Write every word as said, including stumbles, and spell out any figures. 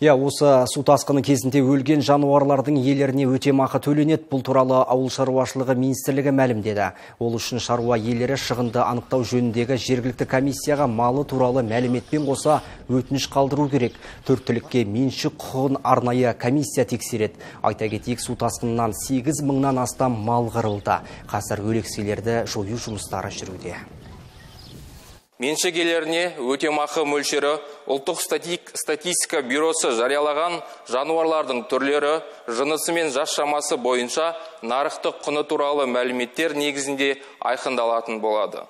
Я, осы су тасқыны кезінде өлген жануарлардың иелеріне өтемақы төленеді. Бұл туралы ауыл шаруашылығы министрлігі мәлімдеді. Ол үшін шаруа иелері шығынды анықтау жөніндегі жергілікті комиссияға малы туралы мәліметпен қоса өтініш қалдыру керек. Төрт түлікке меншік құқығын арнайы комиссия тексереді. Айта кетейік, су тасқынынан сегіз мыңнан астам мал қырылды. Қазір өлекселерді жою жұмыстары жүруде. Меншік иелеріне өтемақы мөлшері ұлттық статистика бюросы жариялаған жануарлардың түрлері, жынысы мен жас шамасы бойынша нарықтық құны туралы мәліметтер негізінде айқындалатын болады.